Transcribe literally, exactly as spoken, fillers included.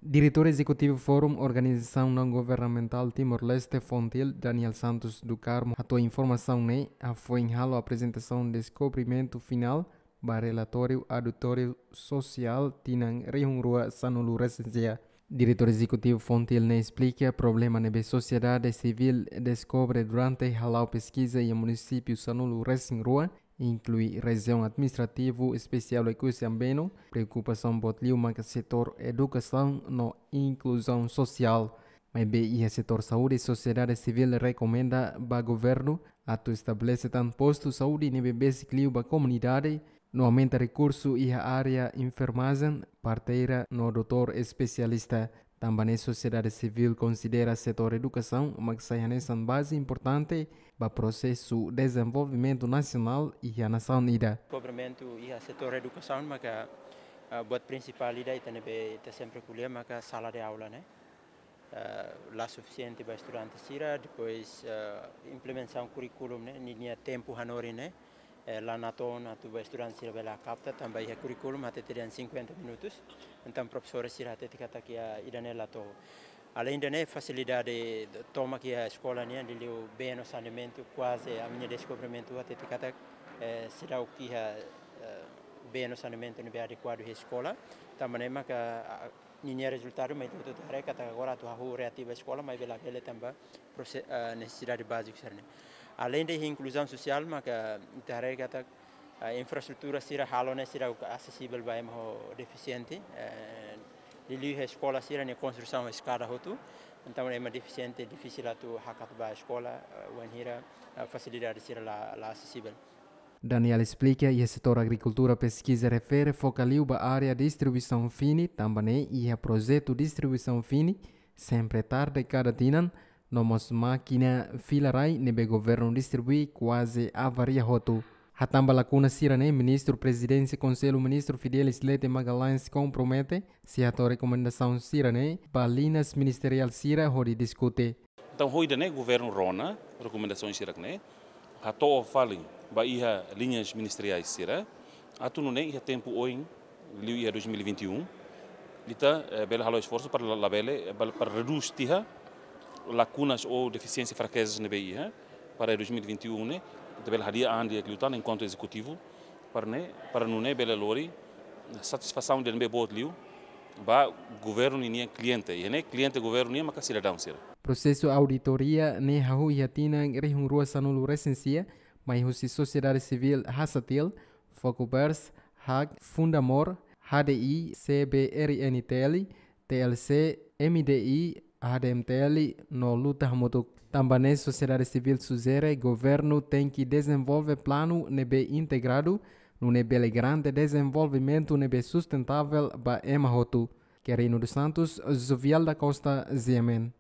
Diretór Ezekutivu Fórum Organizasaun Naun Governamentál Timor-Leste, Fontil, Daniel Santos do Carmo, hato'o informasaun ne'e hafoin halo aprezentasaun deskobrimentu finál ba relatóriu auditóriu sosiál tinan rihun rua sanulu resin sia. Diretór Ezekutivu Fontil ne'e esplika problema ne'ebé sosiedade sivíl deskobre durante hala'o peskiza iha munisípiu sanulu resin rua, inklui Rejiaun Administrativu Espesiál Oekusi Ambeno, preokupasaun boot liu maka setór edukasaun no inkluzaun sosiál. Maibé iha setór saúde, sosiedade sivíl rekomenda ba governu atu estabelese tan postu saúde ne'ebé besik liu ba komunidade, no aumenta rekursu iha área enfermajen, parteira no doutór espesialista. Tanba ne'e sosiedade sivíl konsidera setór edukasaun mak sai hanesan baze importante ba prosesu dezenvolvimentu nasionál iha nasaun ida. Kobrimentu iha setór edukasaun maka, ah, buat prinsipál ida ita ne'ebé ita sempre ko'alia maka sala de aula ne'e, ah, la sufisiente ba estudante sira, depois, ah, implementasaun kurríkulu ne'e, ninia tempu hanorin ne'e, eh, la natoon atu ba estudante sira bele kapta, tanba iha kurríkulu hatete dehan cinquenta minutos, entaun profesór sira hatete katak ida-ne'e la to'o. Além de ne'e, fasilidade tomak iha eskola nian, liuliu bee no saneamentu, kuaze ami-nia deskobrimentu hatete katak, eh, seidauk iha, eh, bee no saneamentu ne'ebé adekuadu iha eskola, tanba ne'e maka, ah, ninia rezultadu mai ita haree katak agora atu hahú reativa eskola, maibé labele tanba prose-, ah, nesesidade báziku sira-ne'e. Além de inkluzaun sosiál, maka ita haree katak, ah, infraestrutura sira halo ne'e seidauk asesivel ba ema ho defisiente, eh, liuliu iha eskola sira-nia konstrusaun eskada hotu, entaun ema defisiente difisil atu hakat ba eskola, ah, wainhira, ah, fasilidade sira la, la asesivel. Daniel esplika, iha setór agrikultura peskiza refere foka liu ba área distribuisaun fini, tanba ne'e iha projetu distribuisaun fini sempre tarde kada tinan, no mós mákina fila rai ne'ebé governu distribui kuaze avaria hotu. Hatán ba lakuna sira-ne'e, Ministru Prezidénsia Konsellu Ministru Fidelis Leite Magalhães kompromete sei hato'o rekomendasaun sira-ne'e ba liñas ministeriál sira hodi diskute. Entaun, ho ida-ne'e governu rona rekomendasaun sira-ne'e, hato'o fali ba iha liñas ministeriais sira, atu nune'e iha tempu oin, liu iha dois mil e vinte e um, ita, eh, bele halo esforsu para la-, labele, eh, bele, para redús tiha lakunas ou defisiénsia, frakezas ne'ebé iha, para dois mil e vinte e um ne'e ita bele hadi'a an di'ak liután enkuantu ezekutivu, para ne'e, para nune'e bele lori satisfasaun ida ne'ebé boot liu ba governu ninia kliente, iha ne'e kliente governu nian maka sidadaun sira. Prosesu auditoria ne'e hahú iha tinan rihun rua sanulu resin sia, mai husi sosiedade sivíl Hasatil, Fokubers, hak, Fundamor, H D I, C B R N T L, T L C, M D I, H D M T L no Luta Hamutuk. Tanba ne'e sosiedade sivíl sujere governu tenke dezenvolve planu ne'ebé integradu, nune'e bele garante dezenvolvimentu ne'ebé sustentável ba ema hotu. Querino dos Santos, Jovial da Costa, G M N.